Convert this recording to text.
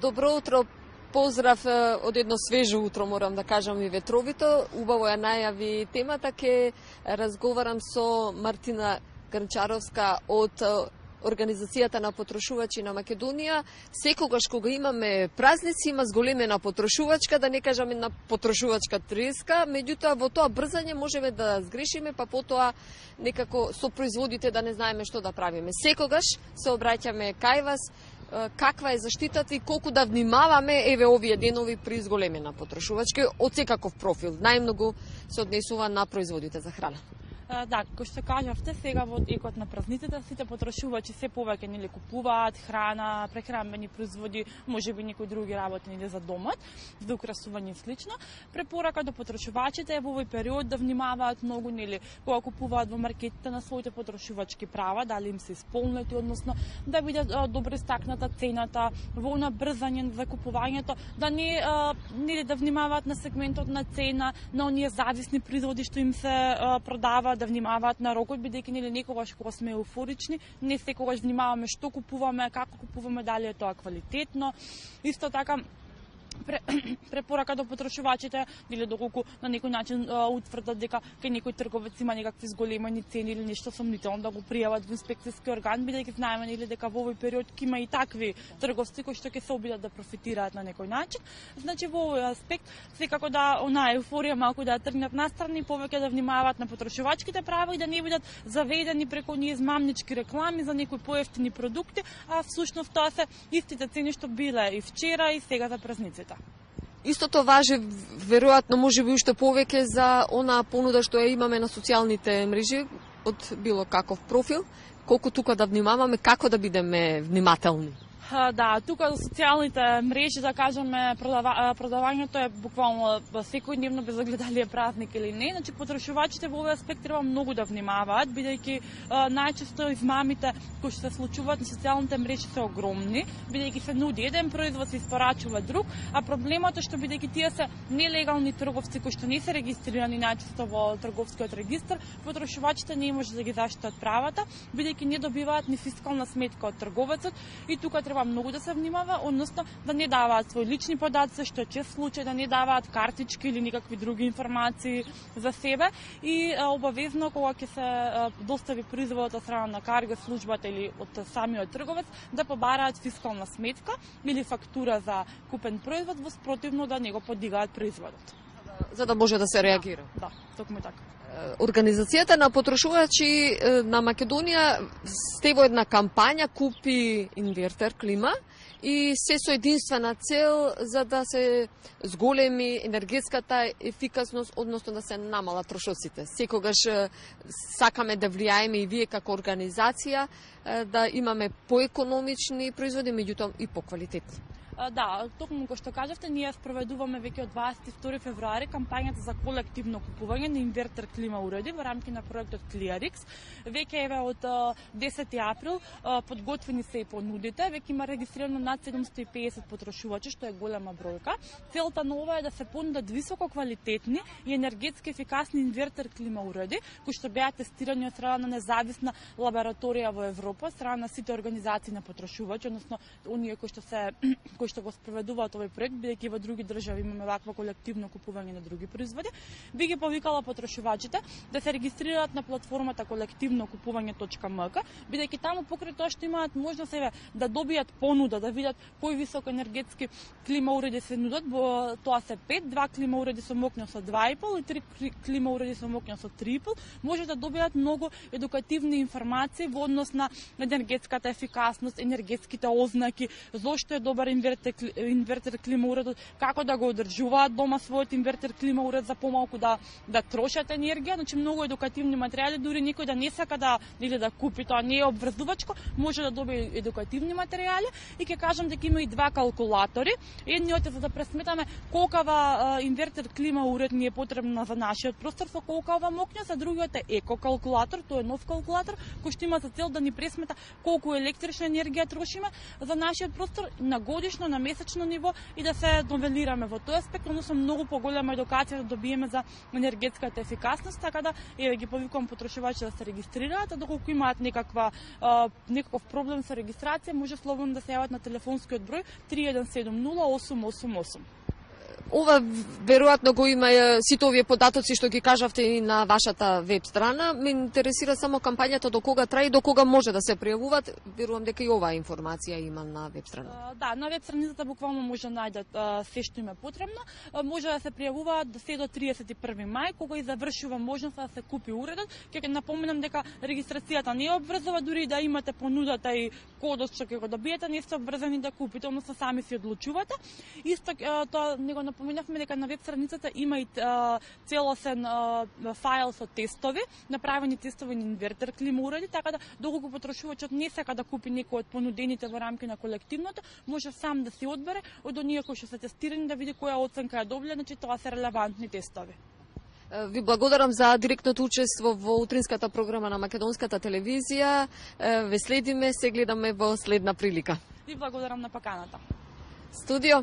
Добро утро, поздрав од едно свежо утро, морам да кажам и ветровито. Убаво ја најави темата, ке разговарам со Мартина Грнчаровска од Организацијата на потрошувачи на Македонија. Секогаш кога имаме празници, има зголемена потрошувачка, да не кажам една потрошувачка треска, меѓутоа во тоа брзање можеме да сгрешиме, па потоа некако со производите да не знаеме што да правиме. Секогаш се обраќаме кај вас, каква е заштитата и колку да внимаваме еве овие денови при зголемена потрошувачка од секаков профил. Најмногу се однесува на производите за храна. Да, кој што кажавте, сега во екот на празниците сите потрошувачи се повеќе нели купуваат храна, прехранбени производи, можеби некои други работи нели за домот, за украсување и слично. Препорака до потрошувачите е во овој период да внимаваат многу нели кога купуваат во маркетите на своите потрошувачки права, дали им се исполнети, односно да видат добро истакната цената, во она брзање за купувањето, да не нели да внимаваат на сегментот на цена, на оние зависни производи што им се продаваат, да внимаваат на рокот, бидејќи нели некогаш кога сме еуфорични, не секогаш внимаваме што купуваме, како купуваме, дали е тоа квалитетно. Исто така препорака до потрошувачите, или доколку на некој начин утврдат дека кај некој трговец има некакви зголемени цени или нешто сомнително, да го пријават во инспекцијски орган, бидејќи знаеме нели дека во овој период ќе има и такви трговци кои што ќе се обидат да профитираат на некој начин. Значи во овој аспект секако да она еуфорија малку да тргнат настрани, повеќе да внимаваат на потрошувачките права и да не бидат заведени преку оние измамнички реклами за некои поевтини продукти, а всушност тоа се истите цени што биле и вчера и сега за празниците. Истото важи, веројатно, можеби уште повеќе за онаа понуда што ја имаме на социјалните мрежи од било каков профил, колку тука да внимаваме, како да бидеме внимателни. Да, тука за социјалните мрежи, да кажеме, продавањето е буквално секојдневно без огледали е празник или не. Значи потрошувачите во овој аспект треба многу да внимаваат, бидејќи најчесто измамите кои што се случуваат на социјалните мрежи се огромни, бидејќи се нуди еден производ, се испорачува друг, а проблемот е што бидејќи тие се нелегални трговци кои што не се регистрирани најчесто во трговскиот регистар, потрошувачите не може да ги заштитат правата, бидејќи не добиваат ни фискална сметка од трговецот и тука треба многу да се внимава, односно да не даваат своји лични податци, што е чест случај, да не даваат картички или никакви други информации за себе и обавезно кога ќе се достави производот од страна на карго службата или од самиот трговец да побараат фискална сметка или фактура за купен производ, во спротивно да не го подигаат производот. За да може да се реагира. Да, токму така. Организацијата на потрошувачи на Македонија сте во една кампања Купи инвертер клима и се со единствена цел за да се зголеми енергетската ефикасност, односно да се намалат трошоците. Секогаш сакаме да влијаеме и вие како организација да имаме поекономични производи, меѓутоа и поквалитетни. Да, токму кој што кажавте, ние спроведуваме веќе од 22 февруари кампањата за колективно купување на инвертер клима уреди во рамки на проектот Clearix. Веќе еве од 10 април подготвени се и понудите, веќе има регистрирано над 750 потрошувачи, што е голема бројка. Целта нова е да се понудат високо квалитетни и енергетски ефикасни инвертер клима уреди, кои што беа тестирани од страна на независна лабораторија во Европа, страна на сите организации на потрошувачи, односно оние кои што го спроведуваат овој проект, бидејќи во други држави имаме вакво колективно купување на други производи, би ги повикала потрошувачите да се регистрираат на платформата колективнокупување.mk, бидејќи таму покрај тоа што имаат можност да добијат понуда, да видат кои високоенергетски клима уреди се нудат, тоа се 5, 2 клима уреди со мокња со 2,5 и 3 клима уреди со мокња со 3,5, може да добијат многу едукативни информации во однос на енергетската ефикасност, енергетските ознаки, зошто е добар инвертер клима уредот, како да го одржуваат дома својот инвертер клима уред за помалку да трошат енергија, значи многу едукативни материјали, дури некој да не сака да или да купи, тоа не е обврзувачко, може да добие едукативни материјали и ќе кажам дека има и два калкулатори. Едниот е за да пресметаме колкава инвертер клима уред ни е потребна за нашиот простор со колкава мокња, а другиот е еко калкулатор, тоа е нов калкулатор кој што има за цел да ни пресмета колку електрична енергија трошиме за нашиот простор на годишно седмично, на месечно ниво и да се новелираме во тој аспект, односно многу поголема едукација да добиеме за енергетската ефикасност, така да ги повикувам потрошувачи да се регистрираат, а доколку имаат некаков проблем со регистрација, може слободно да се јават на телефонскиот број 3170 888. Ова веројатно го има сите овие податоци што ги кажавте и на вашата веб страна. Ме интересира само кампањата до кога трае и до кога може да се пријавуваат. Верувам дека и оваа информација има на веб страна. Да, на веб страницата буквално може да најдат се што им е потребно. Може да се пријавуваат до 31 мај, кога и завршува можноста да се купи уредот. Ќе напоменам дека регистрацијата не е обврзува, дури да имате понудата и кодот што ќе го добиете, не сте обврзани да купите, односно сами си одлучувате. Исто тоа него напоменавме дека на веб страницата има и целосен файл со тестови, направени тестови на инвертер клима уреди, така да доколку потрошувачот не сака да купи некој од понудените во рамки на колективното, може сам да си одбере од оние кои што се тестирани да види која оценка е добила, значи тоа се релевантни тестови. Ви благодарам за директното учество во утринската програма на Македонската телевизија. Ве следиме, се гледаме во следна прилика. Ви благодарам на поканата. Студио.